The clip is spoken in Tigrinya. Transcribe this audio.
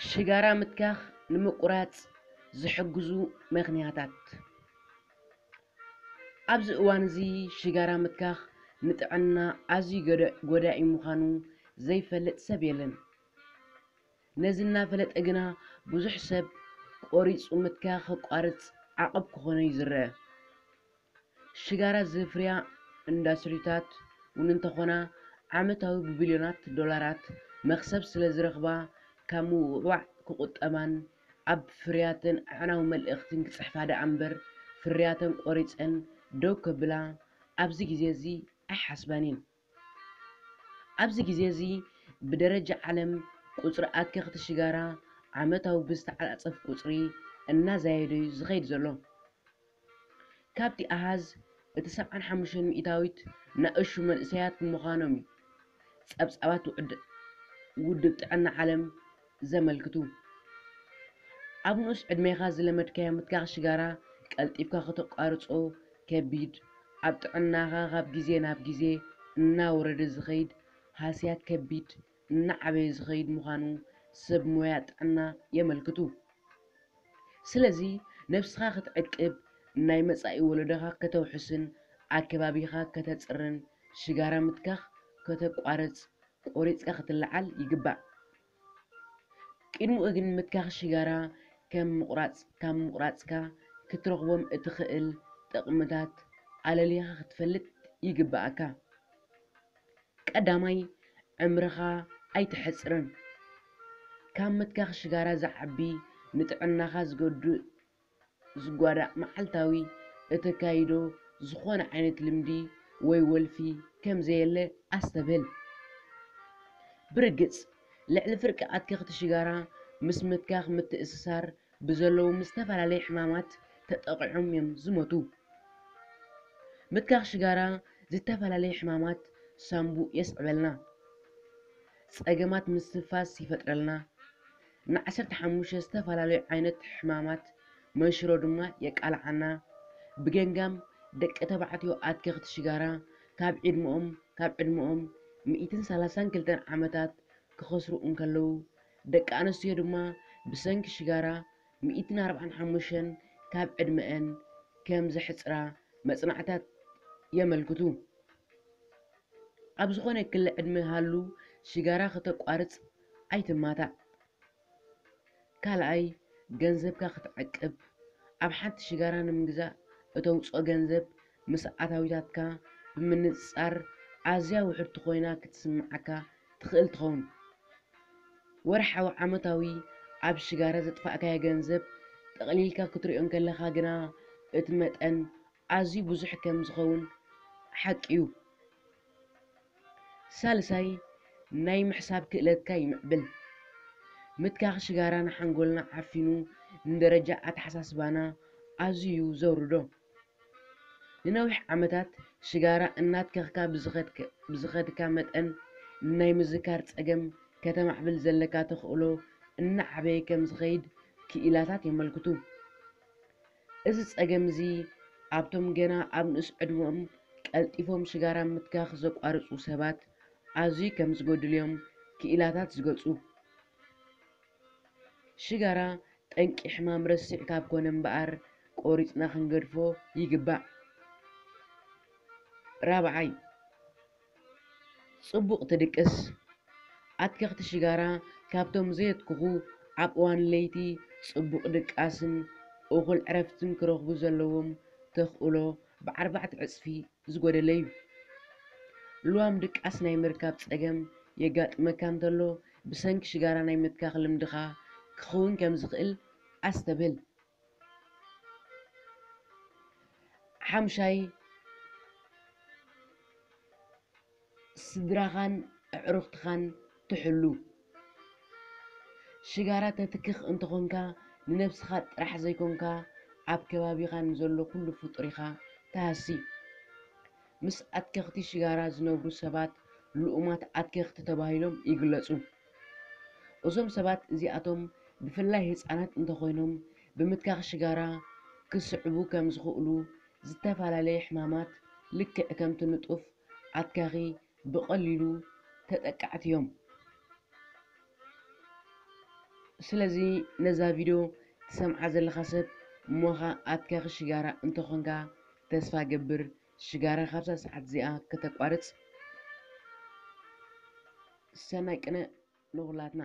ሽጋራ ምትካኽ ንምቁራጽ ዝሕግዙ ምኽንያታት። ኣብዚ እዋን እዚ ሽጋራ ምትካኽ ንጥዕና ኣዝዩ ጎዳኢ ምዃኑ ዘይፈልጥ ሰብ የለን። ነዚ እናፈለጠ ግና ብዙሕ ሰብ ቆሪጹ ምትካኽ ከቋርጽ ዓቐብ ክኾኖ እዩ ዝረአ። ሽጋራ ዘፍርያ ኢንዳስትሪታት እውን እንተኾና ዓመታዊ ብቢልዮናት ዶላራት መኽሰብ ስለ ዝረኽባ ካብ ምውዕዋዕ ክቑጠባን ኣብ ፍርያተን ኣዕናዊ መልእኽትን ክጽሕፋ ደኣ እምበር ፍርያተን ቆሪጸን ደው ከብላ ኣብዚ ግዜ እዚ ኣይሓስባን እየን። ኣብዚ ግዜ እዚ ብደረጃ ዓለም ቁጽሪ ኣትከኽቲ ሽጋራ ዓመታዊ ብዝተዓጻጸፍ ቁጽሪ እናዛየደ እዩ ዝኸይድ ዘሎ። ካብቲ ኣሃዝ እቲ ሰብዓን ሓሙሽተን ሚእታዊት ንኣሽቱ መንእሰያት ብምዃኖም እዩ ጸብጻባት ውድብ ጥዕና ዓለም ዘመልክቱ። ኣብ ንኡስ ዕድሜኻ ዝለመድካዮ ምትካኽ ሽጋራ ቀልጢፍካ ከተቋርጾ ከቢድ፣ ኣብ ጥዕናኻ ካብ ግዜ ናብ ግዜ እናወረደ ዝኸይድ ሃስያት ከቢድ እናዓበየ ዝኸይድ ምዃኑ ሰብ ሞያ ጥዕና የመልክቱ። ስለዚ ነብስኻ ክትዕቅብ፣ ናይ መጻኢ ወለዶኻ ከተውሕስን ኣከባቢኻ ከተጽርን ሽጋራ ምትካኽ ከተቋርጽ ቆሪጽካ ክትለዓል ይግባእ። ቅድሚኡ ግን ምትካኽ ሽጋራ ከም ምቑራጽ ካብ ምቑራጽካ ክትረኽቦም እትኽእል ጥቕምታት ኣለሊኻ ክትፈልጥ ይግብኣካ። ቀዳማይ፣ ዕምርኻ ኣይተሕጽርን። ካብ ምትካኽ ሽጋራ ዝዓቢ ንጥዕናኻ ዝጎድእ ዝጓዳእ መዓልታዊ እተካይዶ ዝኾነ ዓይነት ልምዲ ወይ ወልፊ ከም ዘየለ ኣስተብህል። ብርግጽ፣ ልዕሊ ፍርቂ ኣትከኽቲ ሽጋራ ምስ ምትካኽ ምትእስሳር ብዘለዎም ዝተፈላለዩ ሕማማት ተጠቒዖም እዮም ዝሞቱ። ምትካኽ ሽጋራ ዝተፈላለዩ ሕማማት ሳንቡእ የስዕበልና፣ ጸገማት ምስትንፋስ ይፈጥረልና፣ ንዓሰርተ ሓሙሽተ ዝተፈላለዩ ዓይነት ሕማማት መንሽሮ ድማ የቃልዓና። ብገምጋም ደቂ ተባዕትዮ ኣትከኽቲ ሽጋራ ካብ ዕድመኦም ካብ ዕድመኦም ሚእትን ሰላሳን ክልተን ዓመታት ክኸስሩ እንከለዉ፣ ደቂ ኣንስትዮ ድማ ብሰንኪ ሽጋራ ሚእትን ኣርባዓን ሓሙሽተን ካብ ዕድመአን ከም ዘሕጽራ መጽናዕታት የመልክቱ። ኣብ ዝኾነ ክሊ ዕድመ ሃሉ ሽጋራ ከተቋርጽ ኣይትማታዕ። ካልኣይ፣ ገንዘብካ ክትዕቅብ። ኣብ ሓንቲ ሽጋራ ንምግዛእ እተውጽኦ ገንዘብ ምስ ኣታዊታትካ ብምንጽጻር ኣዝያ ውሕድቲ ኮይና ክትስምዓካ ትኽእል ትኸውን። ወርሓዊ ዓመታዊ ኣብ ሽጋራ ዘጥፋእካዮ ገንዘብ ጠቕሊልካ ክትሪኦ እንከለኻ ግና እቲ መጠን ኣዝዩ ብዙሕ ከም ዝኸውን ሓቂ እዩ። ሳልሳይ፣ ናይ ምሕሳብ ክእለትካ ይምዕብል። ምትካኽ ሽጋራ ንሓንጎልና ዓፊኑ ንደረጃ ኣተሓሳስባና ኣዝዩ እዩ ዘውርዶ። ንነዊሕ ዓመታት ሽጋራ እናትከኽካ ብዝኸድክ- ብዝኸድካ መጠን ናይ ምዝካር ጸገም ከተማዕብል ዘለካ ተኽእሎ እናዓበየ ከም ዝኸይድ ክኢላታት የመልክቱ። እዚ ጸገም እዚ ኣብቶም ገና ኣብ ንኡስ ዕድመኦም ቀልጢፎም ሽጋራ ምትካኽ ዘቋርጹ ሰባት ኣዝዩ ከም ዝጎድልዮም ክኢላታት ዝገልጹ። ሽጋራ ጠንቂ ሕማም ረሲዕ ካብ ኮነ እምበኣር ቆሪጽና ክንገድፎ ይግባእ። ራብዓይ፣ ጽቡቕ ትድቅስ። ኣትከኽቲ ሽጋራ ካብቶም ዘየትክኹ ኣብ እዋን ለይቲ ጽቡቕ ድቃስን እኹል ዕረፍትን ክረኽቡ ዘለዎም ተኽእሎ ብኣርባዕተ ዕጽፊ ዝጎደለ እዩ። ልዋም ድቃስ ናይ ምርካብ ጸገም የጋጥመካ እንተሎ ብሰንኪ ሽጋራ ናይ ምትካኽ ልምድኻ ክኸውን ከም ዝኽእል ኣስተብህል። ሓምሻይ፣ ስድራኻን ኣዕሩኽትኻን ትሕሉ። ሽጋራ ተትክኽ እንተኾንካ ንነብስኻ ጥራሕ ዘይኮንካ ኣብ ከባቢኻ ንዘሎ ኩሉ ፍጡር ኢኻ ትሃሲ። ምስ ኣትከኽቲ ሽጋራ ዝነብሩ ሰባት ልኡማት ኣትከኽቲ ተባሂሎም ይግለጹ። እዞም ሰባት እዚኣቶም ብፍላይ ህጻናት እንተኾይኖም ብምትካኽ ሽጋራ ክስዕቡ ከም ዝኽእሉ ዝተፈላለየ ሕማማት ልክዕ ከምቲ ንጡፍ ኣትካኺ ብቐሊሉ ተጠቃዕቲ እዮም። ስለዚ ነዛ ቪድዮ ትሰምዓ ዘለኻ ሰብ እሞኻ ኣትካኺ ሽጋራ እንተኾንካ ተስፋ ገብር ሽጋራ ካብዛ ሰዓት እዚኣ ከተቋርጽ ሰናይ ቅነ ንኹላትና።